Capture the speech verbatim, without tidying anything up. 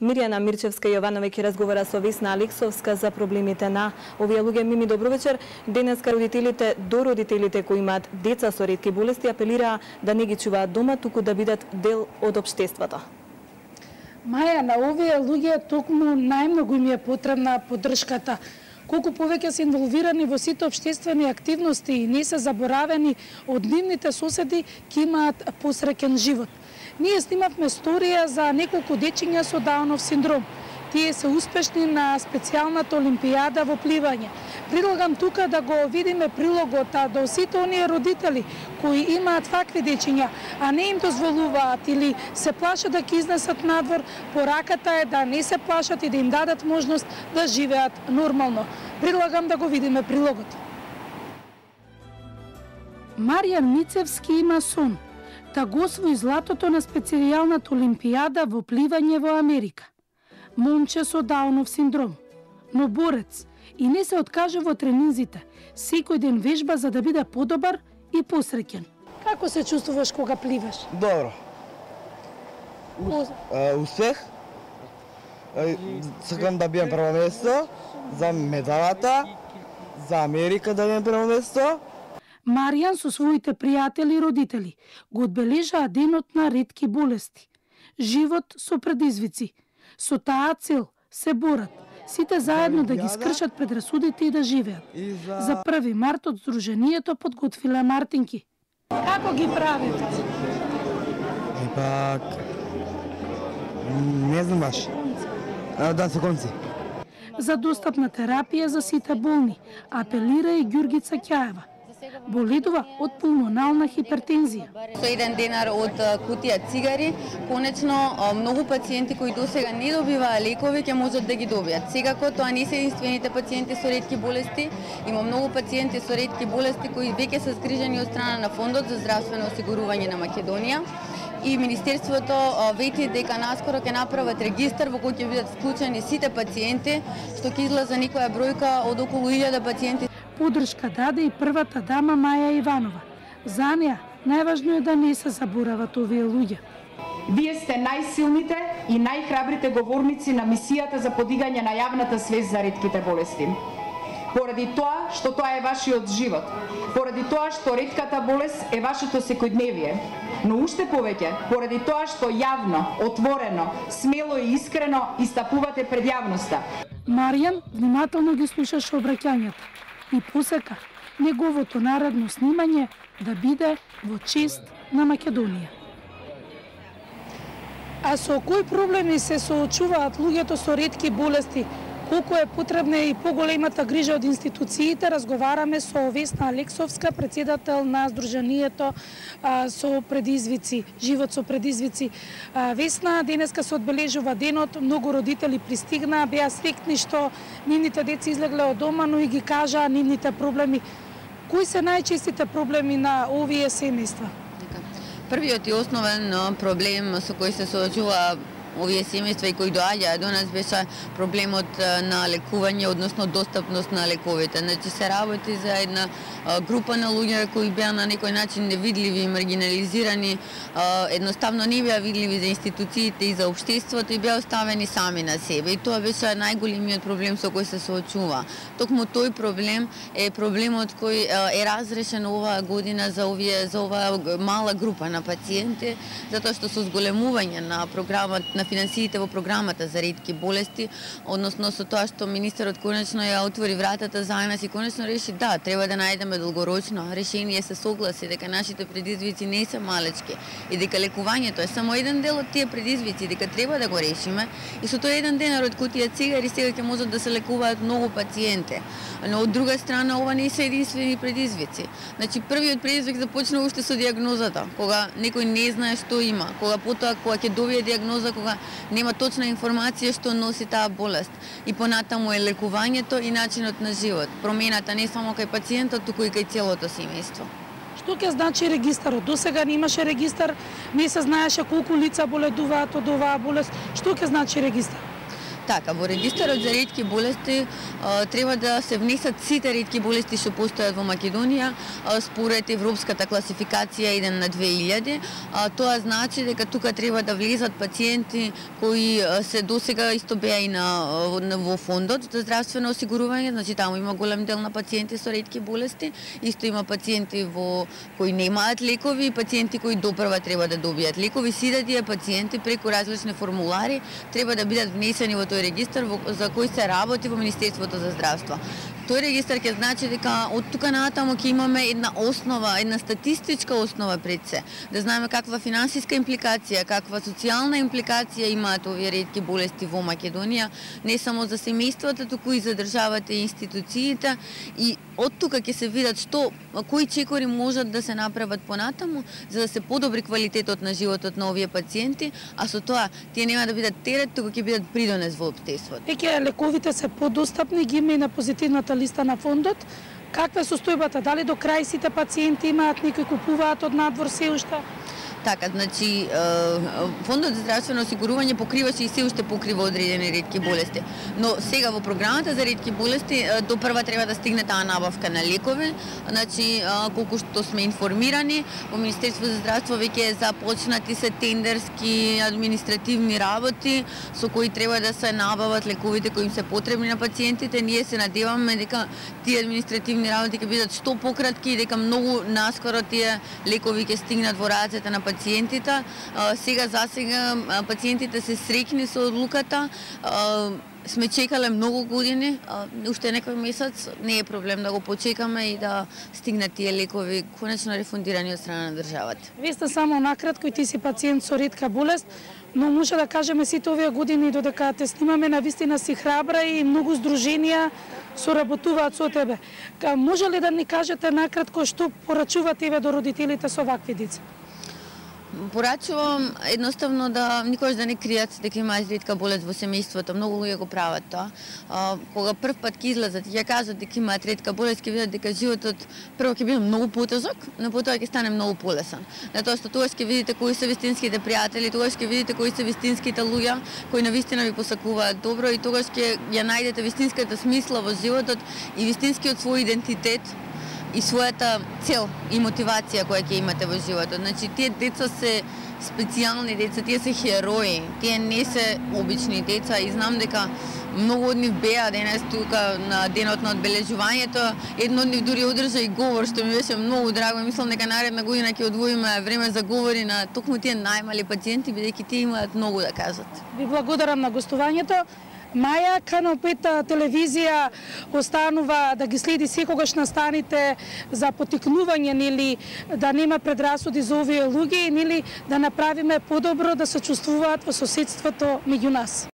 Мирјана Мирчевска Јованови ќе разговара со Весна Алексовска за проблемите на овие луѓе. Мими, добро вечер. Денеска родителите до родителите кои имаат деца со ретки болести апелираа да не ги чуваат дома, туку да бидат дел од општеството. Маја, на овие луѓе токму најмногу им е потребна поддршката. Колку повеќе се инволвирани во сите општествени активности и не се заборавени од нивните соседи, ќе имаат посреќен живот. Ние снимавме сторија за неколку дечиња со Даунов синдром. Тие се успешни на специјалната олимпијада во пливање. Предлагам тука да го видиме прилогот до сите оние родители кои имаат вакви дечиња, а не им дозволуваат или се плашат да ги изнесат надвор. Пораката е да не се плашат и да им дадат можност да живеат нормално. Предлагам да го видиме прилогот. Маријан Мицевски има сон да го освои златото на специјалната олимпијада во пливање во Америка. Момче со Даунов синдром, но борец и не се откажува од тренинзите. Секој ден вежба за да биде подобар и посреќен. Како се чувствуваш кога пливаш? Добро. Ус, а, успех. Сакам да бијам прво место за медалата, за Америка да бијам прво место. Маријан со своите пријатели и родители го одбележаа денот на ретки болести. Живот со предизвици. Со таа цел се борат, сите заедно да ги скршат предрасудите и да живеат. За први март од Сдруженијето подготвиле мартинки. Како ги правите? Епак... не знам баш. Да се конци. За достапна терапија за сите болни, апелира и Ѓургица Ќаева. Боледува од пулмонална хипертензија. Со еден денар од кутија цигари, конечно многу пациенти кои досега не добиваа лекови ќе можат да ги добијат. Секако тоа не се единствените пациенти со ретки болести, има многу пациенти со ретки болести кои веќе се згрижени од страна на Фондот за здравствено осигурување на Македонија. И Министерството вети дека наскоро ќе направат регистар во кој ќе бидат вклучени сите пациенти, што ќе излезе некоја бројка од околу илјада пациенти. Поддршка даде и првата дама Маја Иванова. За неа најважно е да не се заборават овие луѓе. Вие сте најсилните и најхрабрите говорници на мисијата за подигање на јавната свест за ретките болести. Поради тоа што тоа е вашиот живот, поради тоа што ретката болест е вашето секојдневие, но уште повеќе поради тоа што јавно, отворено, смело и искрено истапувате пред јавноста. Маријан внимателно ги слушаше обраќањата и посека неговото наредно снимање да биде во чест на Македонија. А со кои проблеми се соочуваат луѓето со ретки болести? Колку е потребна и поголемата грижа од институциите, разговараме со Весна Алексовска, председател на Сдруженијето а, со предизвици, живот со предизвици. А, Весна, денеска се одбележува денот, многу родители пристигнаа, беа среќни што нивните деца излегле од дома, но и ги кажаа нивните проблеми. Кои се најчестите проблеми на овие семејства? Првиот и основен проблем со кој се соочува овие семејства и кои доаѓаа до нас беше проблемот на лекување, односно достапност на лековите. Значи се работи за една група на луѓе кои беа на некој начин невидливи, маргинализирани, едноставно не беа видливи за институциите и за општеството и беа оставени сами на себе. И тоа беше најголемиот проблем со кој се соочува. Токму тој проблем е проблемот кој е разрешен оваа година за овие за оваа мала група на пациенти, затоа што со зголемување на програмот на финансиите во програмата за ретки болести, односно со тоа што министерот конечно ја отвори вратата за нас и конечно реши да, треба да најдеме долгорочно решение, се согласи дека нашите предизвици не се малечки и дека лекувањето е само еден дел од тие предизвици, дека треба да го решиме и со тој еден денар од кутија цигари сега ќе можат да се лекуваат многу пациенти. Но од друга страна ова не се единствени предизвици. Значи првиот предизвик започна уште со дијагнозата, кога некој не знае што има, кога потоа кога ќе добие дијагноза, кога нема точна информација што носи таа болест. И понатаму е лекувањето и начинот на живот. Промената не само кај пациентот, туку и кај целото семејство. Што ќе значи регистарот? Досега немаше регистар, не се знаеше колку лица боледуваат од оваа болест. Што ќе значи регистар? Така, во регистарот за ретки болести а, треба да се внесат сите ретки болести што постојат во Македонија а, според европската класификација еден на две илјади. А, тоа значи дека тука треба да влезат пациенти кои а, се досега исто беа и на, во фондот за здравствено осигурување, значи таму има голем дел на пациенти со ретки болести, исто има пациенти во кои немаат лекови и пациенти кои допрва треба да добијат лекови. Сите тие пациенти преку различни формулари треба да бидат внесени во тој регистар во, за кој се работи во Министерството за здравство. Тој регистар ќе значи дека од тука натаму ќе имаме една основа, една статистичка основа пред се, да знаеме каква финансиска импликација, каква социјална импликација имаат овие ретки болести во Македонија, не само за семејствата, туку и за државата и институциите, и од тука ќе се видат што кои чекори можат да се направат понатаму за да се подобри квалитетот на животот на овие пациенти, а со тоа тие нема да бидат терет, туку ќе бидат придонес во општеството. Веќе лековите се подостапни, ги има и на позитивната листа на фондот. Каква е состојбата? Дали до крај сите пациенти имаат, некои купуваат од надвор се уште? Така, значи, фондот за здравствено осигурување покриваше и се уште покрива одредени ретки болести. Но сега во програмата за ретки болести до прва треба да стигне таа набавка на лекови. Значи, колку што сме информирани, во Министерство за здравство веќе започнати се тендерски административни работи со кои треба да се набават лековите кои им се потребни на пациентите. Ние се надеваме дека тие административни работи ќе бидат што пократки и дека многу наскоро тие лекови ќе стигнат во рацете на пациентите. Сега за сега пациентите се среќни со одлуката. Сме чекале многу години, уште некој месец, не е проблем да го почекаме и да стигнат тие лекови конечно рефундирани од страна на државата. Вие сте само накратко и ти си пациент со ретка болест, но може да кажеме сите овие години додека те снимаме, навистина си храбра и многу здруженија соработуваат со тебе. Може ли да ни кажете накратко што порачувате еве до родителите со вакви деца? Порачувам едноставно да никогаш да не кријат дека имаат ретка болест во семејството. Многу луѓе го прават тоа. А, кога прв пат ќе излезат и ќе кажат дека имаат ретка болест, ќе видат дека животот прво ќе биде многу потежок, но потоа ќе стане многу полесен. Затоа што тогаш ќе видите кои се вистинските пријатели, тогаш ќе видите кои се вистинските луѓе кои навистина ви посакуваат добро и тогаш ќе ја најдете вистинската смисла во животот и вистинскиот свој идентитет и својата цел и мотивација која ќе имате во животот. Значи, тие деца се специјални деца, тие се херои, тие не се обични деца и знам дека многу од нив беа денес тука на денот на одбележувањето. Едно од нив дури одржа и говор, што ми беше многу драго. Мислам дека наредна година ќе одвоиме време за говори на токму тие најмали пациенти, бидејќи тие имаат многу да кажат. Ви благодарам на гостувањето. Маја, Канал пет телевизија останува да ги следи секогаш настаните за потикнување, нели, да нема предрасуди за овие луѓе, нели, да направиме подобро да се чувствуваат во соседството меѓу нас.